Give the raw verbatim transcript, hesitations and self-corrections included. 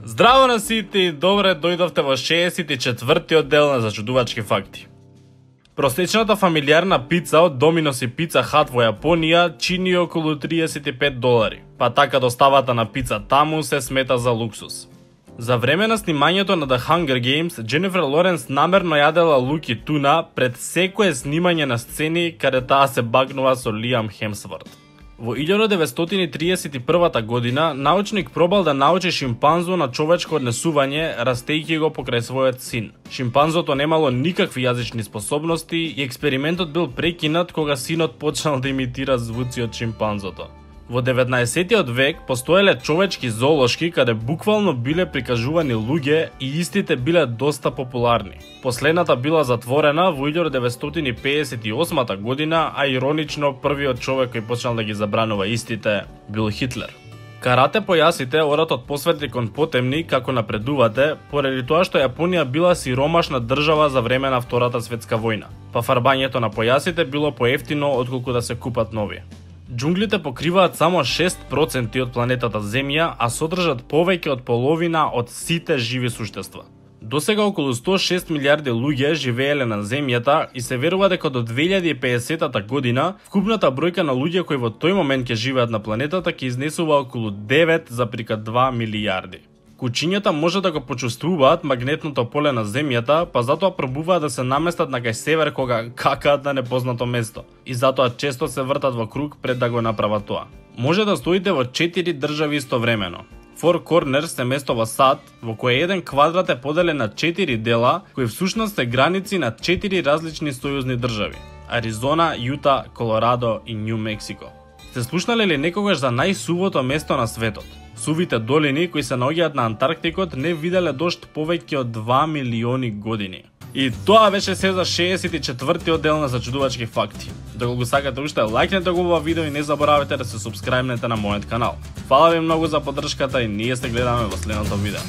Здраво на сите и добре дојдовте во шеесет и четвртиот дел на Зачудувачки факти. Просечната фамилиарна пица од Доминос и Пица Хат во Јапонија чини околу триесет и пет долари, па така доставата на пица таму се смета за луксус. За време на снимањето на The Hunger Games, Дженифер Лоренс намерно јадела лук и туна пред секое снимање на сцени каде таа се багнува со Лиам Хемсворт. Во илјада деветстотини триесет и прва година, научник пробал да научи шимпанзо на човечко однесување, растејќи го покрај својот син. Шимпанзото немало никакви јазични способности и експериментот бил прекинат кога синот почнал да имитира звуци од шимпанзото. Во деветнаесеттиот век постоеле човечки зоолошки каде буквално биле прикажувани луѓе и истите биле доста популарни. Последната била затворена во илјада деветстотини пеесет и осма година, а иронично првиот човек кој почнал да ги забранува истите бил Хитлер. Карате појасите оратот посвети кон потемни како напредувате, поради тоа што Јапонија била сиромашна држава за време на Втората светска војна, па фарбањето на појасите било поевтино отколку да се купат нови. Џунглите покриваат само шест проценти од планетата Земја, а содржат повеќе од половина од сите живи суштества. Досега околу сто и шест милијарди луѓе живееле на Земјата и се верува дека до две илјади и педесета година вкупната бројка на луѓе кои во тој момент ќе живеат на планетата ќе изнесува околу девет запирка два милијарди. Кучињата може да го почувствуваат магнетното поле на Земјата, па затоа пробуваат да се наместат на кај север кога какаат на непознато место. И затоа често се вртат во круг пред да го направат тоа. Може да стоите во четири држави истовремено. Four Corners е место во САД во кое еден квадрат е поделен на четири дела, кои всушност се граници на четири различни сојузни држави: Аризона, Јута, Колорадо и Њу Мексико. Сте слушнале ли некогаш за најсувото место на светот? Сувите долини кои се наоѓаат на Антарктикот не виделе дожд повеќе од два милиони години. И тоа беше се за шеесет и четвртиот дел на Зачудувачки факти. Доколку сакате уште, лајкнете го ова видео и не заборавете да се супскрајбнете на мојот канал. Фала ви многу за поддршката и ние се гледаме во следното видео.